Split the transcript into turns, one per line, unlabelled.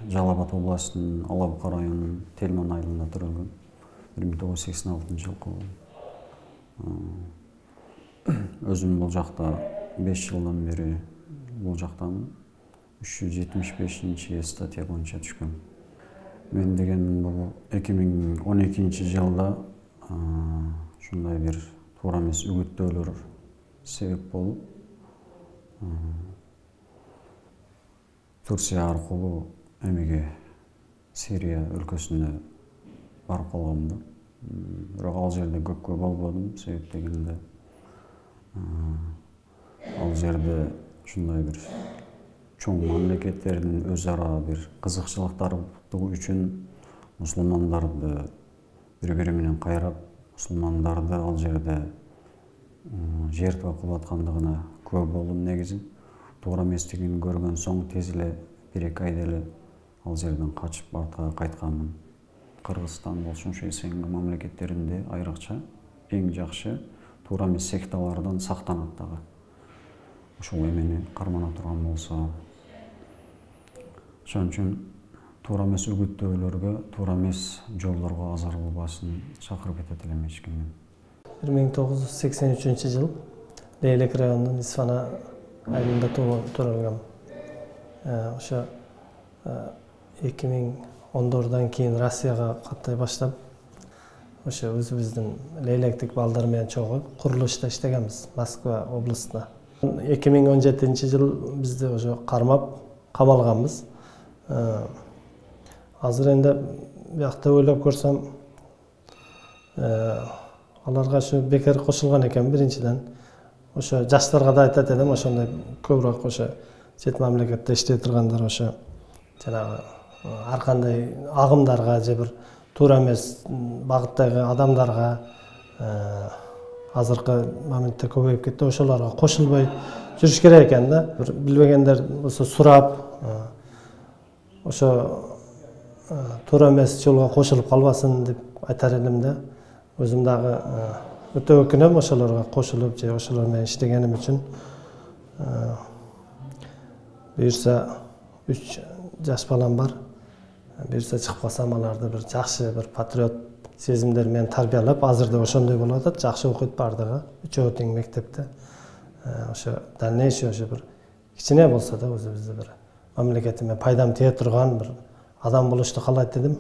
Жалал Абад областынын Ала Бука районунун Телман айылында төрөлгөм. 1986 жылкы. Өзүм бул жакта 5 жылдан бери бул жактамын. 375 статья боюнча түшкөм. Мен деген бул 2012 жылда ушундай бир туура эмес үгүттөөлөр себеп болуп, Турция аркылуу эмеге Сирия өлкөсүнө барып калгам да. Бирок ал жерде көпкө болбодум, себеп дегенде ал жерде ушундай бир чоң мамлекеттердин өз ара бир кызыкчылыктары үчүн мусулмандарды бири-бири менен кайрап, мусулмандарды ал жерде жертва кылып аткандыгына күбө болдум негизи. Туура эместигин көргөн соң тез эле 1-2 айда эле ал жерден качып артка кайтканмын. Кыргызстан болсун, ШСНГ мамлекеттеринде айрыкча эң жакшы туура эмес секталардан сактанат дагы. Ошол эмени кармана турган болсо, ошон үчүн туура эмес үгүттөөлөргө, туура эмес жолдорго азыр болбасын чакырып кетет элем эч кимди.
1983 жыл Лейлек районунун Исфана айылында төрөлгөм. Ошо 2010 кийин Россияга каттай баштап, ошо өзүбүздүн Лейлектик балдар менен чогуу курулушта иштегенбиз Москва областына. 2017 жыл бизди ошо кармап камалганбыз. Азыр энди биякта ойлоп көрсөм, аларга ошо бекер кошулган экен биринчиден. Ошо жаштарга да айтат элем, ошондой көбүрөөк ошо чет мамлекетте иштей тургандар ошо жанагы ар кандай агымдарга же бир туура эмес багыттагы адамдарга азыркы моментте көбөйүп кетти. Ошолорго кошулбой жүрүш керек экен да. Билбегендер болсо сурап, ошо туура эмес жолго кошулуп калбасын деп айтар элем да. Өзүм дагы өтө өкүнөм ошолорго кошулуп же ошолор менен иштегеним үчүн. Буюрса 3 жаш балам бар. Буюрса чыгып калсам аларды бир жакшы бир патриот сезимдер менен тарбиялап, азыр да ошондой болуп атат. Жакшы окуйт бардыгы. Үчөө тең мектепте. Ошо дальнейший ошо бир кичине болсо да өзүбүздү бир мамлекетиме пайдам тие турган бир адам болушту каалайт эдим.